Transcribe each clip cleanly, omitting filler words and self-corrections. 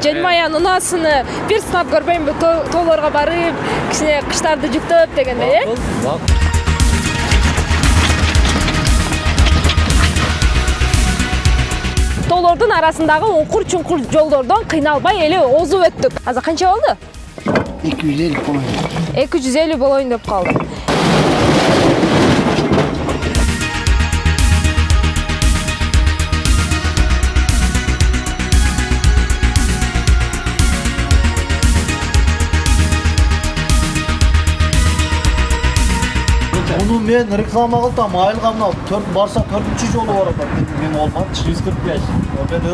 Желмаян унаасыны бир сынап көрбөймүнбү? Тоолорго барып, кичине кыштарды жүктөп дегендей, Тоолордун арасындагы уңкур-чуңкур жолдордон кыйналбай эле озуп өттүк. Азыр канча болду? 250 болоюн. 250 болоюн деп калды. Bunu men reklama kıldım, ayılgamda barsa 4-cü jolu var da men olmadı. 145.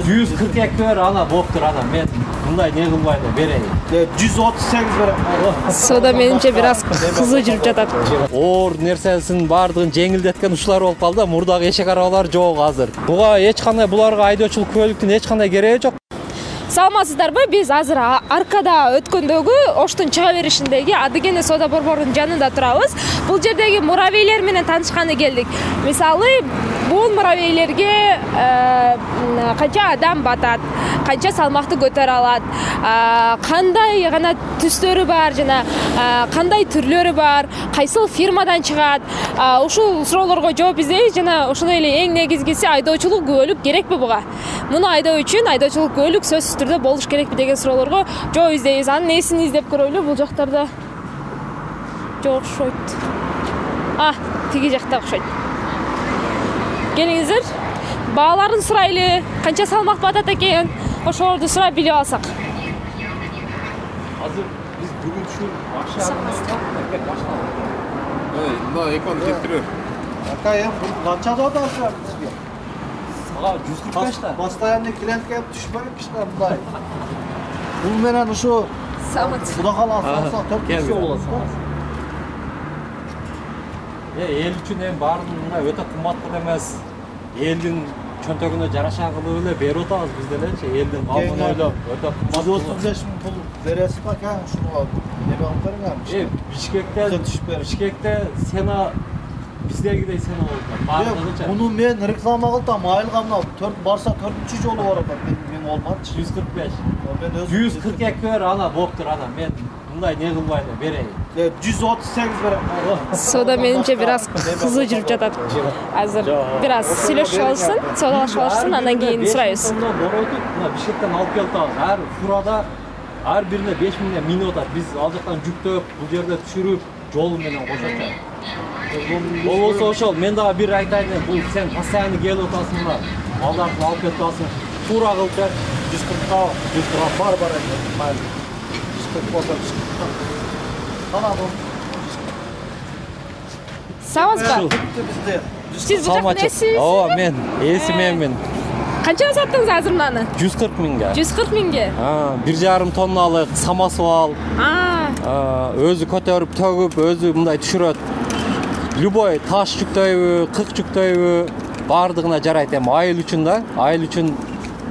142 ver ana boptur ana men bunday ne kılbaydı bereyim. 138 verem. Soda menimçe biraz kızı жүрүп жатат. Оор нерсесин бардыгын жеңилдеткен ушулар болуп калды. Мурдагы эшек арабалар жок азыр. Буга эч кандай буларга айдоочулук көлүктүн эч кандай кереги жок. Саламатсыздарбы? Биз азыр аркада өткөндөгү Оштун чыга беришиндеги Адыгене соода борборунун жанында турабыз. Бул жердеги муравейлер менен таанышканы келдик. Мисалы, бул муравейлерге канча адам батат, канча салмакты көтөрө алат, кандай гана түстөрү бар жана кандай түрлөрү бар, кайсыл фирмадан чыгат. Ушул суроолорго жооп издейбиз жана ошондой эле эң негизгиси айдоочулук күбөлүк керекпи буга? Муну айдоо үчүн айдоочулук күбөлүк сөзсүз түрдө болуш керекпи деген суроолорго жооп издейбиз. Анын несин издеп көрөлү? Бул жактарда жок окшойт. Тиги жакта окшойт. Келиңиздер. Бааларын сурайлы, канча салмак батат экен, ошолорду сурап билип алсак. Азыр биз бүгүн ушул акчаны мына экон кетирер. Акайым, канча да бизге? 145 да. Постоянный клиент келип түшпөйт кишилер мындай. Бул менен ушу Куда каласа 400 болот. Эл үчүн эми баардыгы өтө кымбат эмес. Элдин чөнтөгүнө жараша кылып эле берип атабыз биз делечи. Элдин калгын ойлоп өтө кымбат. 135 миң пул бересиз ба ка? Ушуга неме алып бериңер. Бишкекте сена биздегидей сена болот. Муну мен реклама кылдым, айылгамда барса 4-cü жолу бар да мен олмады. 145. Мен өзүм 142 ver ana boptur ana men bunday ne kılbaydı bereyim. 138 verem. Soda menimçe biraz kızı жүрүп жатат. Азыр biraz сүйлөшүп алышсын, соодалашып алышсын, андан кийин сурайбыз. Боройтуп, мына Бишкектен алып келип атабыз. Ар фурада ар бирине 5 миңден минип атат. Биз ал жактан жүктөп, бул жерде түшүрүп, жол менен кошот. Болсо ошол, мен дагы бир айтайын, бул сен постоянно келип атасың мына. Балдарды алып кетип атасың. Тура кылып бер. 140 бар экен. 140 болсо. Сааматсызбы? Сиз бул жактын эсисиз? Ооба, мен эси мен. Канчага саттыңыз азыр мынаны? 140 миңге. 140 миңге? 1,5 тонналык самосвал. Өзү көтөрүп, төгүп, өзү мындай түшүрөт. Любой таш жүктөйбү, кык жүктөйбү, бардыгына жарайт. Эми айыл үчүн да, айыл үчүн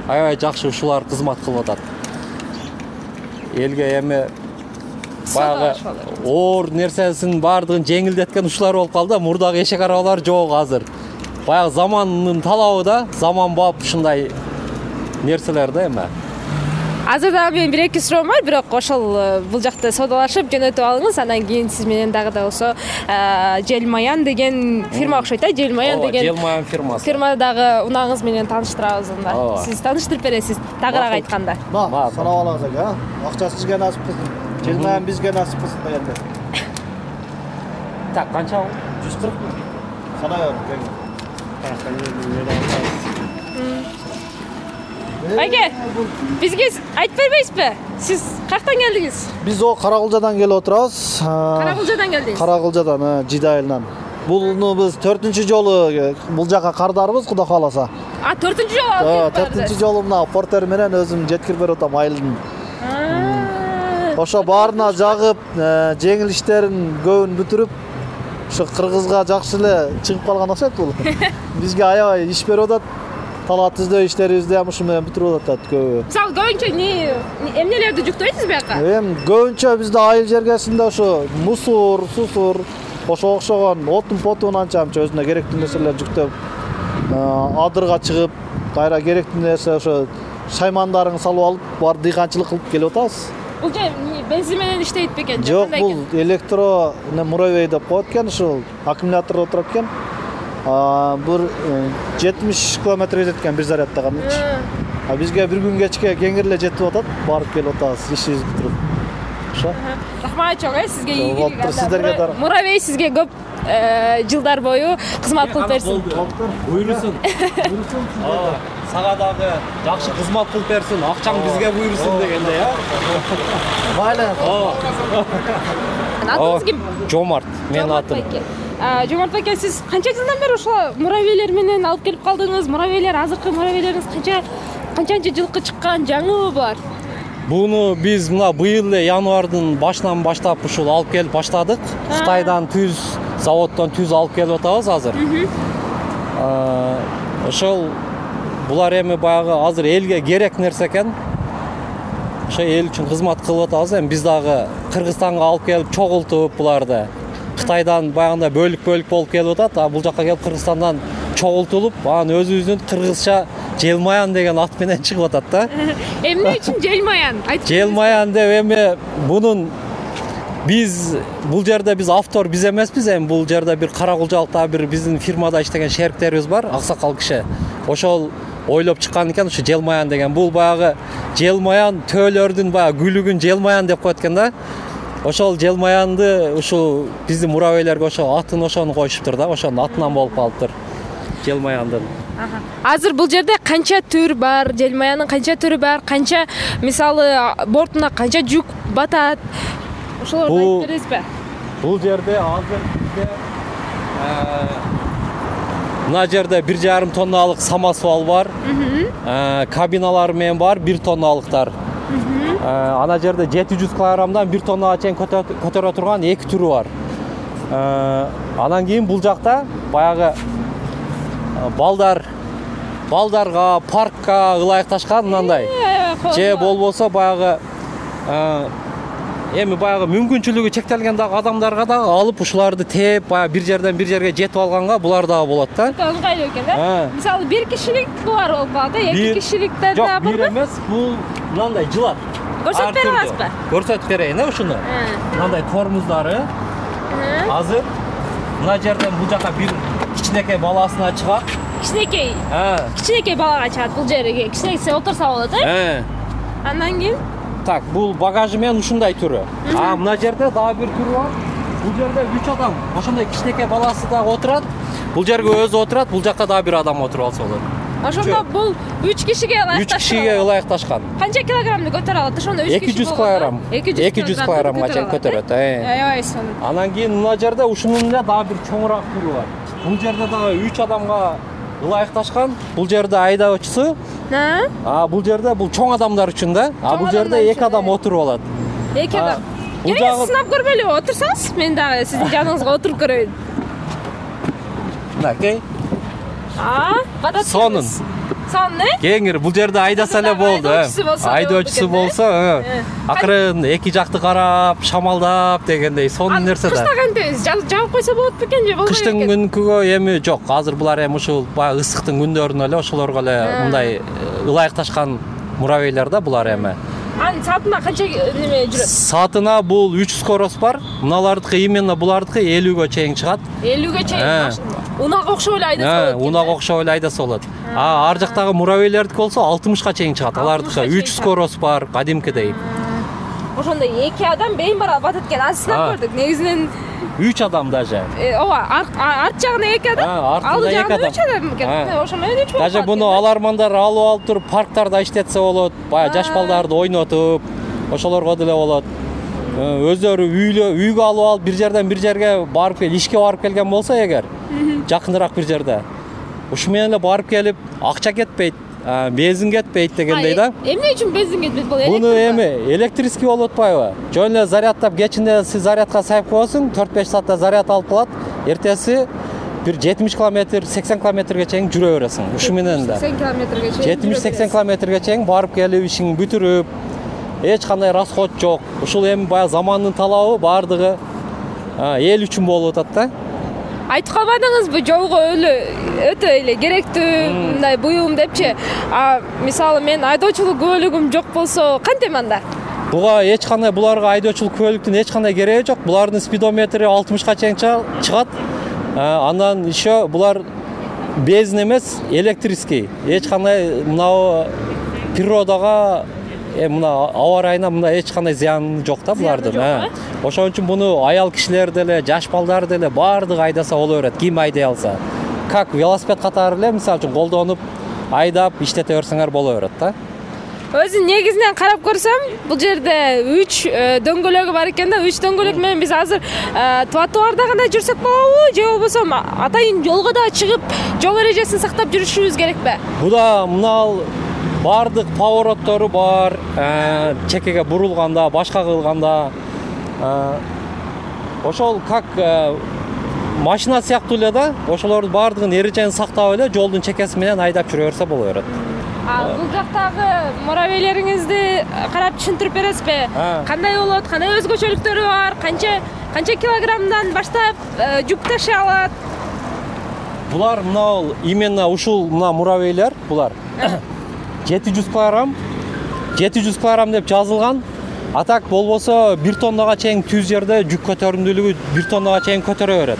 аябай жакшы ушулар кызмат кылып атат. Элге эми баягы оор нерсесин бардыгын жеңилдеткен ушулар болуп калды. Мурдагы эшек арабалар жок азыр. Баягы замандын талабы да, заманбап ушундай нерселер да эми. Азыр дагы менин 1-2 суроом бар, бирок ошол бул жакта соодалашып жөнөтүп алыңыз, андан кийин сиз менен дагы да болсо Желмаян деген фирма окшойт, Желмаян деген. Желмаян фирмасы. Фирма дагы унааңыз менен тааныштырабыз анда. Сиз тааныштырып бересиз, тагыраак айтканда. Санап алабыз ака. Акча сизге насип кылсын. Желмаян бизге насип кылсын дегенде. Так, канча болду? 140 миң. Санап Айке, бизге айтып бербейсизби? Сиз каяктан келдиңиз? Биз о Каракылжадан келип отурабыз. Каракылжадан келдиңиз? Каракылжадан, Жиде айылынан. Буну биз 4-cü жолу бул жака кардарбыз, Куда кааласа. 4-cü жолу алып келип барды. 4-cü жолу мына портер менен өзүм жеткирип берип атам айылдын. Ошо баарына жагып, жеңил иштерин көбүн бүтүрүп, ошо кыргызга жакшы эле чыгып калган окшойт бул. Бизге аябай иш берип атат. Талат издөө иштерибизди ham ушу менен бүтүрүп атат көбү. Мисалы көбүнчө эмнелерди жүктөйсүз бияка? Эми көбүнчө бизде айыл жергесинде ошо мусор, сусур, ошо окшогон отун-потун анча-мынча өзүнө керектүү нерселер жүктөп, адырга чыгып, кайра керектүү нерсе ошо шаймандарыңды салып алып бар дыйканчылык кылып келип атабыз. Бул же бензин менен иштейт бекен? Жок, бул электро муравей деп коет экен, ушул аккумулятор отурат экен. Бир 70 километр жетет экен бир зарядтаганда. Бизге бир күн кечке кеңири эле жетип атат, барып келип атабыз, ишибиз бүтүрүп. Ошо. Рахмат чоң, сизге ийгилик. Сиздерге да. Муравей сизге көп жылдар бою кызмат кылып берсин. Буйрусун. Сага дагы жакшы кызмат кылып берсин, акчаң бизге буйрусун дегенде, Майла. Атыңыз ким? Жомарт, менин атым. Жомарт ака, сиз канча жылдан бери ошо муравейлер менен алып келип калдыңыз? Муравейлер, азыркы муравейлериңиз канчанчы жылкы чыккан, жаңыбы булар? Буну биз мына быйыл эле январдын башынан баштап ушул алып келип баштадык. Кытайдан түз заводдон түз алып келип атабыз азыр. Ошол булар эми баягы азыр элге керек нерсе экен. Ошо эл үчүн кызмат кылып атабыз. Эми биз дагы Кыргызстанга алып келип чогултуп буларды. Кытайдан баягында бөлүк болуп келип атат, бул жакка келип Кыргызстандан чогултулуп, анан өзүбүздүн кыргызча Желмаян деген ат менен чыгып атат да. Эмне үчүн Желмаян? Желмаян деп эми бунун биз бул жерде биз автор биз эмеспиз, эми бул жерде бир Каракулжалыкта бир биздин фирмада иштеген шериктерибиз бар, аксакал киши. Ошол ойлоп чыккан экен ушу Желмаян деген. Бул баягы Желмаян төөлөрдүн баягы күлүгүн Желмаян деп коет экен да. Ошол Желмаянды ушул биздин муравейлерге ошо атын ошону коюшуптур да, ошонун атынан болуп калыптыр. Желмаяндын. Азыр бул жерде канча түр бар? Желмаяндын канча түрү бар? Канча, мисалы, бортуна канча жүк батат? Ошолорду айтып бересизби? Бул жерде азыр бизде мына жерде 1,5 тонналык самосвал бар. Кабиналар менен бар 1 тонналыктар. Ана жерде 700 килограммдан 1 тоннага чейин көтөрө турган 2 түрү бар. Анан кийин бул жакта баягы балдарга, паркка ылайыкташкан мындай. Же болбосо баягы эми баягы мүмкүнчүлүгү чектелген дагы адамдарга дагы алып ушуларды тээп, баягы бир жерден бир жерге жетип алганга булар дагы болот да. Ыңгайлуу экен да. Мисалы, бир кишилик булар болуп калат, 2 кишиликтер да бар. Жок, бир эмес, бул мындай жылат. Көрсөтүп бере аласызбы? Көрсөтүп берейин, ушуну. Мындай тормуздары. Азыр мына жерден бул жака бир кичинекей баласына чыгат. Кичинекей. Кичинекей балага чыгат бул жерге. Кичинекей отурса болот, Андан кийин так, бул багажы менен ушундай түрү. Мына жерде дагы бир түрү бар. Бул жерде 3 адам, ошондой кичинекей баласы дагы отурат. Бул жерге өзү отурат, бул жакка дагы бир адам отуруп алса болот. Ошондо бул 3 кишиге ылайыкташкан. 3 кишиге ылайыкташкан. Канча килограммды көтөрө алат? Ошондо 3 киши 200 килограмм. 200 килограммга чейин көтөрөт. Аябай сонун. Анан кийин мына жерде ушунун эле дагы бир чоңураак түрү бар. Бул жерде дагы 3 адамга ылайыкташкан. Бул жерде айдоочусу. Бул жерде бул чоң адамдар үчүн да. Бул жерде 2 адам отуруп алат. 2 адам. Келиңиз сынап көрбөйлүбү? Отурсаңыз, мен дагы сиздин жаныңызга отуруп көрөйүн. Мынакей. Батат. Сонун, кеңир бул жерде айдаса эле болду. Айдоочусу болсо, акырын эки жакты карап, шамалдап дегендей сонун нерсе да. Кышта кантебиз? Жаап койсо болот бекен же болбойт? Кыштын күнкүгө эми жок. Азыр булар эми ушул баягы ысыктын күндөрүнө эле ошолорго эле мындай ылайыкташкан муравейлер да булар эми. Анын саатына канча неме жүрөт? Саатына бул 300 скорость бар. Мыналардыкы именно булардыкы 50ге чейин чыгат. 50ге чейин. Унага окшоп эле айдаса болот. Унага окшоп эле айдаса болот. Ар жактагы муравейлердики болсо 60га чейин чыгат. Алардыкы 300 скорость бар, кадимкидей. Ошондой 2 адам бейин бара батат экен. Азыр сынап көрдүк. Негизинен 3 адам даже. Ооба, арт жагына 2 адам, алды жагына 3 адам экен. Ошо менен 3 болот. Даже буну алармандар алып туруп парктарда иштетсе болот. Баягы жаш балдарды ойнотуп, ошолорго деле болот. Өздөрү үйгө алып бир жерден бир жерге барып кел, ишке барып келген болсо эгер, жакыныраак бир жерде. Ушу менен эле барып келип, акча кетпейт, бензин кетпейт дегендей да. Эмне үчүн бензин кетпейт бул? Буну эми электрический болуп атпайбы? Жөн эле зарядтап кечинде сиз зарядка сайып коесуң, 4-5 саатта заряд алып калат. Эртеси бир 70 км, 80 кмге чейин жүрө бересиң. Ушу менен да. 80 кмге чейин. 70-80 кмге чейин барып келип ишиңди бүтүрүп, эч кандай расход жок. Ушул эми баягы замандын талабы бардыгы эл үчүн болуп атат да. айтып калбадыңызбы жолго өтө эле керектүү мындай буюм депчи? Мисалы мен айдоочулук күбөлүгүм жок болсо кантем анда? Буга эч кандай буларга айдоочулук күбөлүктүн эч кандай кереги жок. Булардын спидометри 60ка чейин чыгат. Андан еще булар бензин эмес, электрический. Эч кандай мына природага мына аба ырайына мына эч кандай зыяны жок да булардын. Ошон үчүн буну аял кишилер деле, жаш балдар деле баардыгы айдаса боло берет, ким айдай алса. Как велосипед катары эле мисалы үчүн колдонуп, айдап, иштете берсеңер боло берет да. Өзү негизинен карап көрсөм, бул жерде 3 дөңгөлөгү бар экен да. 3 дөңгөлөк менен биз азыр тротуарда гана жүрсөк болобу, же болбосо атайын жолго да чыгып, жол эрежесин сактап жүрүшүбүз керекпи? Буда мына баардык повороттору бар, чекеге бурулганда, башка кылганда, ошол как машина сыяктуу эле да, ошолордун баардыгын эрежени сактап эле жолдун чекеси менен айдап жүрө берсе боло берет. Бул жактагы муравейлериңизди карап түшүндүрүп бересизби? Кандай болот, кандай өзгөчөлүктөрү бар, канча килограммдан баштап жүк ташый алат? Булар мына именно ушул мына муравейлер, булар 700 килограмм деп жазылган. А так болбосо 1 тоннага чейин түз жерде жүк көтөрүмдүүлүгү 1 тоннага чейин көтөрө берет.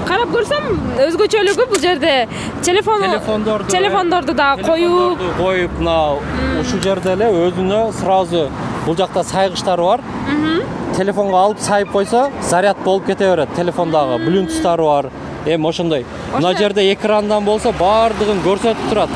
Карап көрсөм өзгөчөлүгү бул жерде телефондорду да коюп мына ушул жерде эле өзүнө сразу бул жакта сайгычтар бар. Телефонго алып сайып койсо заряд болуп кете берет. Телефондагы Bluetooth'тары бар. Ошондой. Мына жерде экрандан болсо баардыгын көрсөтүп турат.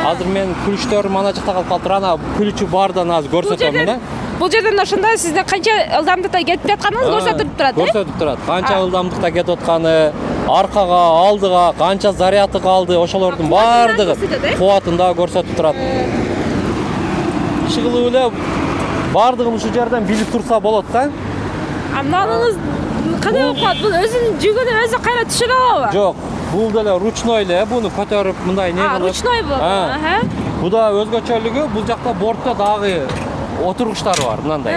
Азыр мен күлүчтөрүм ана жакта калып калыптыр. Ана күлүчү бардан азыр көрсөтөм мына. Бул жерден ошондо сиздин канча ылдамдыкта кетип жатканыңыз көрсөтүп турат, Көрсөтүп турат. Канча ылдамдыкта кетип атканы, аркага, алдыга, канча заряды калды, ошолордун баардыгы кубатын да көрсөтүп турат. Чыгылып эле баардыгын ушул жерден билип турса болот да. Мынаныңыз кандай болуп калат? Бул өзүнүн жүгүнү өзү кайра түшүрө алабы? Жок, бул деле ручной эле, буну көтөрүп мындай не кылып. Ручной болот. Буда өзгөчөлүгү, бул жакта бортто дагы отургучтар бар, мындай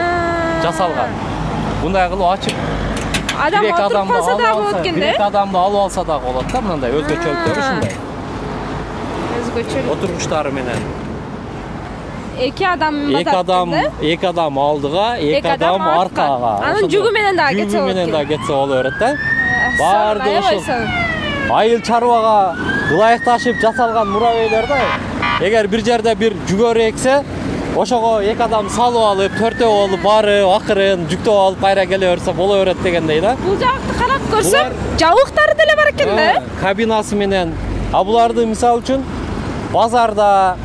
жасалган. Мындай кылып ачып адам отуруп калса да болот экен да. Бир адамды алып алса да болот да, мындай өзгөчөлүктөрү ушундай. Өзгөчөлүк. Отургучтары менен. Эки адам алдыга, эки адам аркага. Анын жүгү менен дагы кетсе болот. Жүгү менен дагы кетсе боло берет да. Баардыгы ушул айыл чарбага ылайыкташып жасалган муравейлер да. Эгер бир жерде бир жүгөрү эксе, ошого эки адам салып алып, төртөө болуп барып, акырын жүктөп алып кайра келе берсе боло берет дегендей да. Бул жакты карап көрсөм, жабыктары деле бар экен да. Кабинасы менен. Буларды мисалы үчүн базарда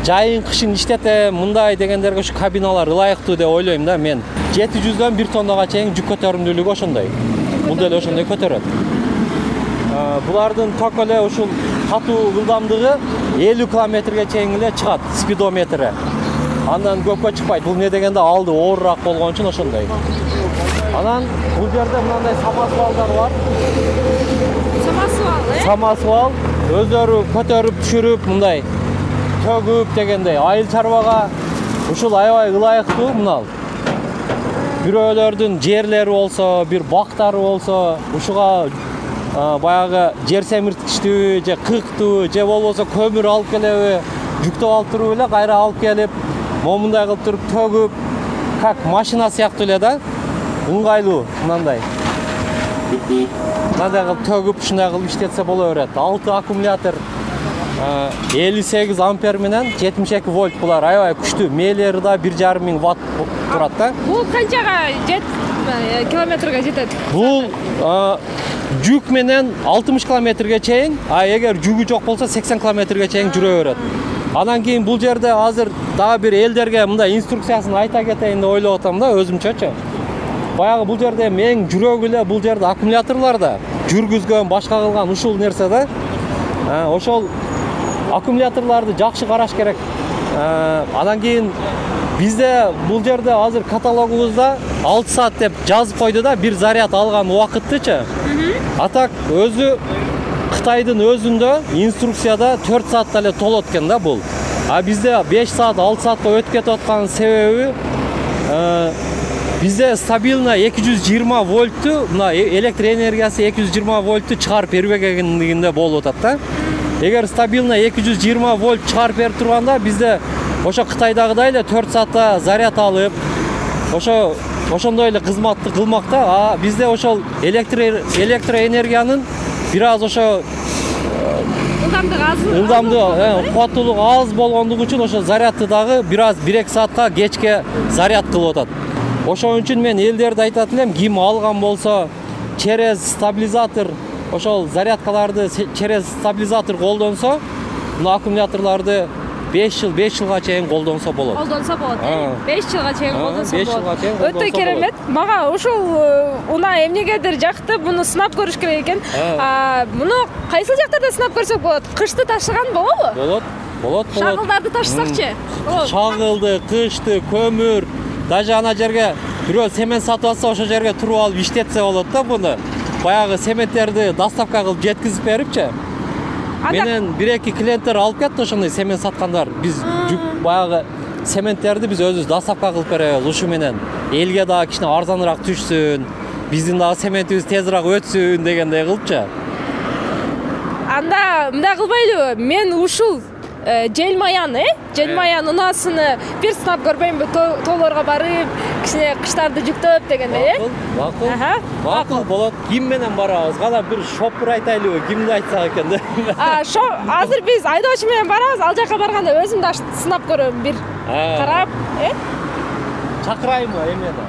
жайын кышын иштетем, мындай дегендерге ушу кабиналар ылайыктуу деп ойлойм да мен. 700дөн 1 тоннага чейин жүк көтөрүмдүүлүгү ошондой. Бул деле ошондой көтөрөт. Булардын ток эле ушул катуу ылдамдыгы 50 километрге чейин эле чыгат, спидометри. Андан көпкө чыкпайт. Бул не дегенде алды оорураак болгон үчүн ошондой. Анан бул жерде мындай самосвалдар бар. Самосвал өздөрү көтөрүп түшүрүп мындай төгүп дегендей айыл чарбага ушул аябай ылайыктуу мынал. Бирөөлөрдүн жерлери болсо, бир бактары болсо, ушуга баягы жер семирткичтүү же кыктуу же болбосо көмүр алып келеби, жүктөп алып туруп эле кайра алып келип, момундай кылып туруп төгүп, как машина сыяктуу эле да. Ыңгайлуу мындай. Мындай кылып төгүп, ушундай кылып иштетсе боло берет. 6 аккумулятор 58 ампер менен 72 вольт булар аябай күчтүү. Мээлери да 1,5 ватт турат да. Бул канчага километрге жетет? Бул жүк менен 60 километрге чейин, эгер жүгү жок болсо 80 километрге чейин жүрө берет. Андан кийин бул жерде азыр дагы бир элдерге мындай инструкциясын айта кетейин деп ойлоп атам да, өзүмчөчү. Баягы бул жерде менин жүрөгү эле бул жерде аккумуляторларда жүргүзгөн, башка кылган ушул нерсе да. Ошол аккумуляторларды жакшы караш керек. Андан кийин бизде бул жерде азыр каталогубузда 6 саат деп жазып койду да, бир заряд алган убакыттычы. А так өзү Кытайдын өзүндө инструкцияда 4 саатта эле толот экен да бул. А бизде 5 саат, 6 саатка өтүп кетип аткан себеби Бизде стабильно 220 вольтту, мына электр энергиясы 220 вольтту чыгарып бербегендигинде болуп атат да. Эгер стабильно 220 вольт чыгарып берип турганда бизде ошо Кытайдагыдай эле 4 саатта заряд алып, ошондой эле кызматты кылмак да. А бизде ошол электроэнергиянын бир аз ошо ылдамдыгы, кубаттуулугу аз болгондугу үчүн ошо зарядты дагы бир аз 1-2 саатка кечке заряд кылып атат. Ошон үчүн мен элдерди айтат элем, ким алган болсо через стабилизатор, ошол зарядкаларды через стабилизатор колдонсо, мына аккумуляторларды 5 жылга чейин колдонсо болот. Колдонсо болот. 5 жылга чейин колдонсо болот. 5 жылга чейин колдонсо болот. Өтө керемет. Мага ушул унаа эмнегедир жакты, буну сынап көрүш керек экен. Муну кайсыл жактарда сынап көрсөк болот? Кышты ташыган болобу? Болот. Шагылдарды ташысакчы? Шагылды, кышты, көмүр, даже ана жерге бирөө семент сатып алса, ошол жерге туруп алып иштетсе болот да буну. Баягы сементтерди доставка кылып жеткизип берипчи. Менен 1-2 клиенттер алып кетти ошондой семент саткандар. Биз баягы сементтерди биз өзүбүз доставка кылып беребиз. Ушу менен элге дагы кичине арзаныраак түшсүн, биздин дагы сементибиз тезирээк өтсүн дегендей кылыпчы. Анда мындай кылбайлыбы? Мен ушул желмаян унаасыны бир сынап көрбөймүнбү? Тоолорго барып, кичине кыштарды жүктөп дегендей, Макул болот. Ким менен барабыз? Кана бир шопур айтайлыбы? Кимди айтсак экен да? Азыр биз айдоочу менен барабыз. Ал жака барганда өзүм да сынап көрөм бир. Карап, Чакырайбы эмени?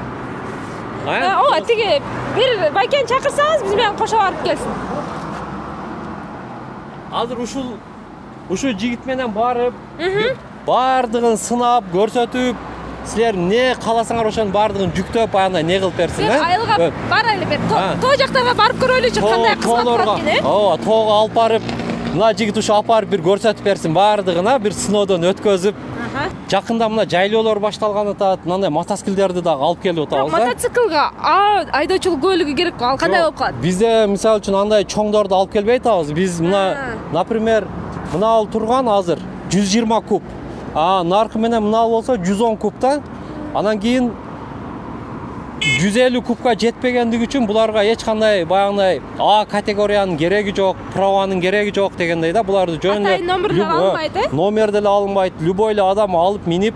Ооба, тиги бир байкени чакырсаңыз, биз менен кошо барып келсин. Азыр ушул жигит менен барып, бардыгын сынап, көрсөтүп, силер не кааласаңар ошонун бардыгын жүктөп, андай не кылып берсин, Айылга барайлы бер. Тоо жактарга барып көрөлүчү, кандай кызмат бар экен, Ооба, тоого алып барып, мына жигит ушу алып барып бир көрсөтүп берсин, бардыгына бир сыноодон өткөзүп. Жакында мына жайлоолор башталган атат, мындай мотоциклдерди дагы алып келип атабыз да. Мотоциклга айдоочулук көлүгү керек, ал кандай болуп калат? Бизде мисалы үчүн андай чоңдорду алып келбей атабыз. Биз мына, например, мына турган азыр 120 куб. Наркы менен мына болсо 110 куб да. Анан кийин 150 кубка жетпегендиги үчүн буларга эч кандай баягындай А категориянын кереги жок, праванын кереги жок дегендей да. Буларды жөн эле номер деле алынбайт. Любой эле адам алып минип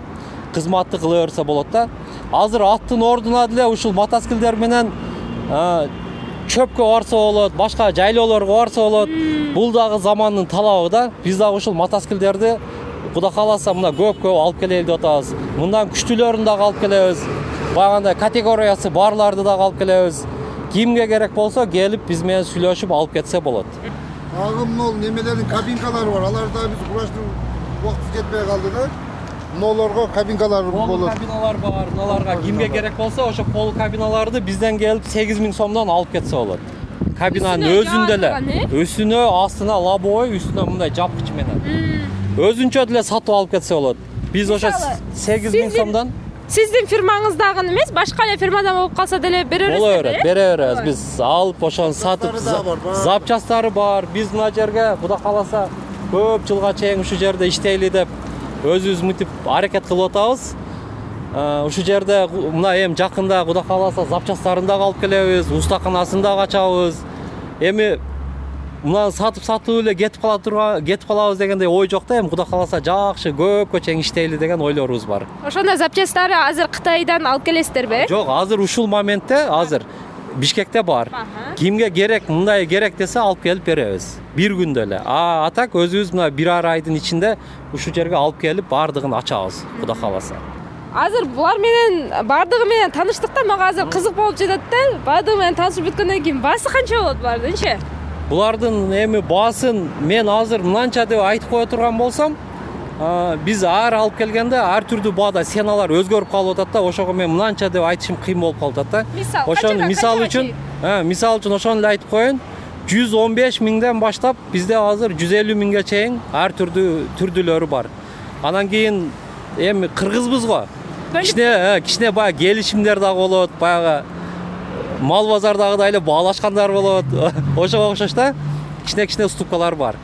кызматты кыла берсе болот да. Азыр аттын ордуна деле ушул мотоциклдер менен чөпкө барса болот, башка жайлоолорго барса болот. Бул дагы замандын талабы да. Биз дагы ушул мотоциклдерди Кудай кааласа мына көп алып келели деп атабыз. Мындан күчтүүлөрүн дагы алып келебиз. Баягындай категориясы барларды дагы алып келебиз. Кимге керек болсо келип биз менен сүйлөшүп алып кетсе болот. Дагы мол немелердин кабинкалары бар. Аларда биз кураштын убакыты жетпей калды да. Молорго кабинкалар болот. Кабиналар бар. Мыналарга кимге керек болсо ошо пол кабиналарды бизден келип 8000 сомдон алып кетсе болот. Кабинанын өзүндө эле, үстүнө, астына лобовой, үстүнө мындай жапкыч менен. Өзүнчө деле сатып алып кетсе болот. Биз ошо 8000 сомдон Сиздин фирмаңыздагы эмес, башка эле фирмадан болуп калса деле бере бересизби? Бере беребиз. Биз алып ошону сатып, запчасттары бар. Биз мына жерге Кудай кааласа көп жылга чейин ушу жерде иштейли деп өзүбүз мынтип аракет кылып атабыз. Ушу жерде мына эми жакында Кудай кааласа запчасттарын дагы алып келебиз, устаканасын дагы ачабыз. Эми мына сатып эле кетип калабыз дегендей ой жок да. Эми Кудай кааласа жакшы көпкө чейин иштейли деген ойлорубуз бар. Ошондо запчасттары азыр Кытайдан алып келесиздерби? Жок, азыр ушул моментте азыр Бишкекте бар. Кимге керек, мындай керек десе алып келип беребиз. Бир күндө эле. А так өзүбүз мына 1,5 айдын ичинде ушу жерге алып келип бардыгын ачабыз, Кудай кааласа. Азыр булар менен бардыгы менен таныштыкта мага азыр кызык болуп жатат да. Бардыгы менен таанышып бүткөндөн кийин баасы канча болот булардынчы? Булардын эми баасын мен азыр мынанча деп айтып кое турган болсом, биз алып келгенде ар түрдүү баада сеналар өзгөрүп калып атат да. Ошого мен мынанча деп айтышым кыйын болуп калып атат да. Ошону мисал үчүн ошону эле айтып коеюн. 115 миңден баштап бизде азыр 150 миңге чейин ар түрдүү түрдүүлөрү бар. Анан кийин эми кыргызбыз го. Кичине баягы келишимдер дагы болот, баягы мал базардагыдай эле баалашкандар болот. Ошого окшош да. Кичине уступкалар бар.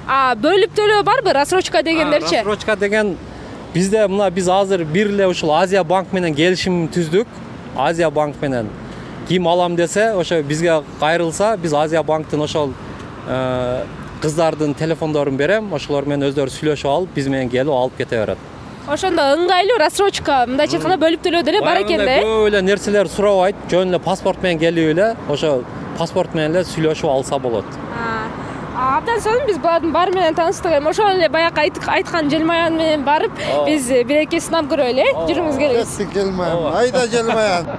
Бөлүп төлөө барбы? Рассрочка дегендерчи? Рассрочка деген бизде мына биз азыр бир эле ушул Азия банк менен келишим түздүк. Азия банк менен кийим алам десе, ошо бизге кайрылса, биз Азия банктын ошол кыздардын телефондорун берем, ошолор менен өздөрү сүйлөшүп алып, биз менен келип алып кете берет. Ошондо ыңгайлуу рассрочка, мындайча айтканда бөлүп төлөө деле бар экен да. Көп эле нерселер сурабайт, жөн эле паспорт менен келип эле, ошо паспорт менен эле сүйлөшүп алса болот. Абдан сонун, биз булардын баары менен тааныштык. Эми ошол эле баягы айткан Желмаян менен барып, биз бир-эки сынап көрөлү, жүрүңүз келебиз. Желмаян, айда Желмаян.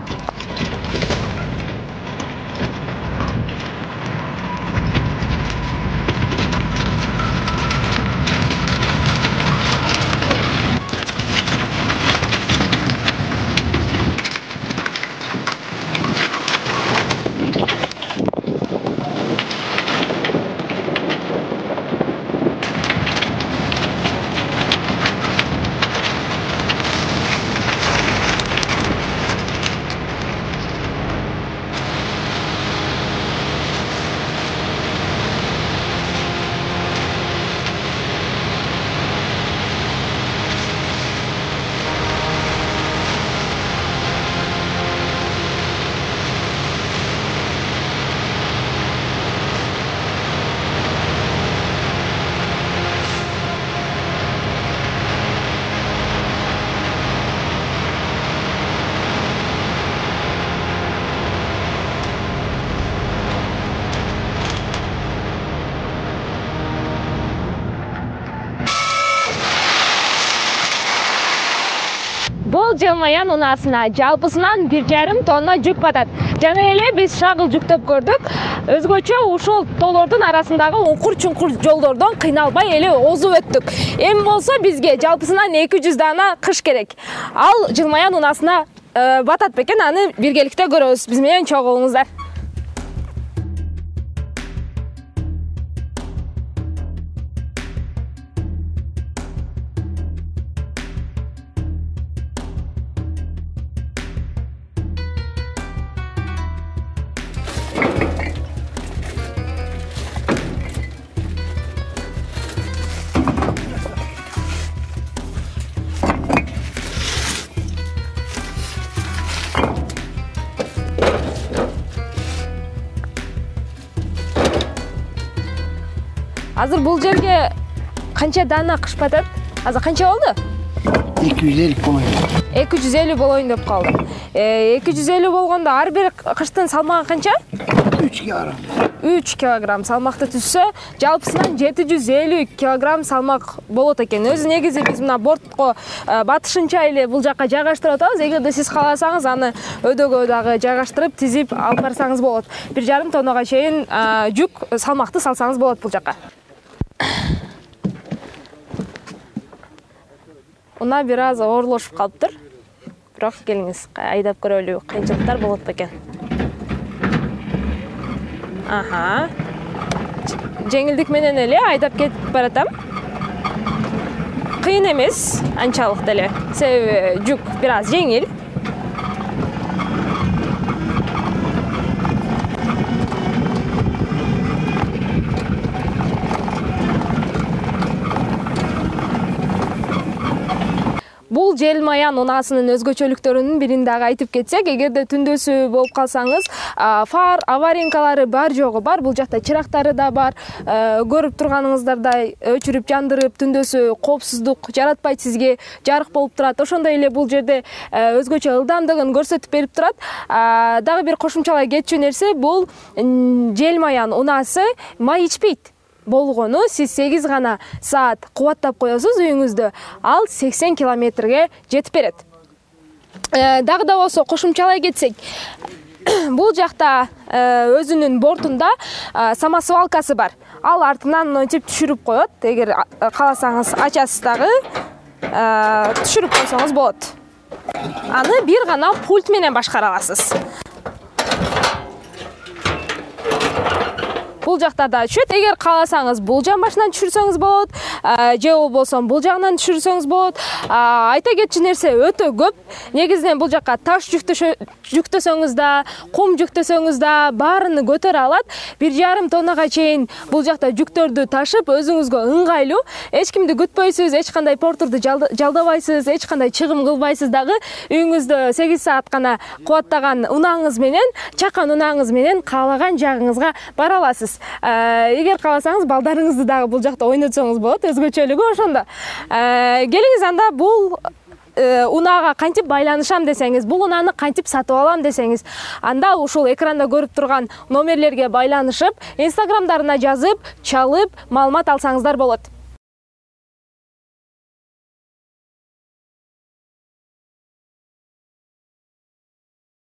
Бул Желмаян унаасына жалпысынан 1,5 тонна жүк батат. Жана эле биз шагыл жүктөп көрдүк. Өзгөчө ушул тоолордун арасындагы уңкур-чуңкур жолдордон кыйналбай эле озуп өттүк. Эми болсо бизге жалпысынан 200 дана кыш керек. Ал Желмаян унаасына батат бекен, аны биргеликте көрөбүз. Биз менен чогулуңуздар. Азыр бул жерге канча дана кыш батат? Азыр канча болду? 250 болоюн. 250 болоюн деп калды. 250 болгондо ар бир кыштын салмагы канча? 3 килограмм. 3 килограмм салмакты түзсө, жалпысынан 750 килограмм салмак болот экен. Өзү негизи биз мына бортко батышынча эле бул жакка жайгаштырып атабыз. Эгерде сиз кааласаңыз, аны өдөгө дагы жайгаштырып, тизип алып барсаңыз болот. 1,5 тоннага чейин жүк салмакты салсаңыз болот бул жакка. Уна бир аз оорлошуп калыптыр. Бирок келиңиз, айдап көрөлү, кыйынчылыктар болот бекен. Аха. Жеңилдик менен эле айдап кетип баратам. Кыйын эмес, анчалык деле. Себеби жүк бир аз жеңил. Бул Желмаян унаасынын өзгөчөлүктөрүнүн бирин дагы айтып кетсек, эгерде түндөсү болуп калсаңыз, фар аварийкалары бар жогу бар. Бул жакта чырактары да бар. Көрүп турганыңыздардай өчүрүп жандырып, түндөсү коопсуздук жаратпайт, сизге жарык болуп турат. Ошондой эле бул жерде өзгөчө ылдамдыгын көрсөтүп берип турат. Дагы бир кошумчалай кетчү нерсе, бул Желмаян унаасы май ичпейт. Болгону сиз 8 гана саат кубаттап коесуз үйүңүздө, ал 80 километрге жетип берет. Дагы да болсо кошумчалай кетсек, бул жакта өзүнүн бортунда самосвалкасы бар. Ал артынан мынтип түшүрүп коет. Эгер кааласаңыз ачасыз дагы түшүрүп койсоңуз болот. Аны бир гана пульт менен башкара аласыз. Бул бул жактарда түшөт. Эгер кааласаңыз бул жан башынан түшүрсөңүз болот, же болбосо бул жагынан түшүрсөңүз болот. Айта кетчү нерсе өтө көп. Негизинен бул жакка таш жүктөсөңүз да, кум жүктөсөңүз да баарын көтөрө алат. 1,5 тоннага чейин бул жакта жүктөрдү ташып, өзүңүзгө ыңгайлуу. Эч кимди күтпөйсүз, эч кандай портурду жалдабайсыз, эч кандай чыгым кылбайсыз дагы. Үйүңүздө 8 саат гана кубаттаган унааңыз менен, чакан унааңыз менен каалаган жагыңызга бара аласыз. Эгер кааласаңыз балдарыңызды дагы бул жакта ойнотсоңуз болот, өзгөчөлүгү ошондо. Келиңиз анда бул унаага кантип байланышам десеңиз, бул унааны кантип сатып алам десеңиз, анда ушул экранда көрүп турган номерлерге байланышып, инстаграмдарына жазып, чалып, маалымат алсаңыздар болот.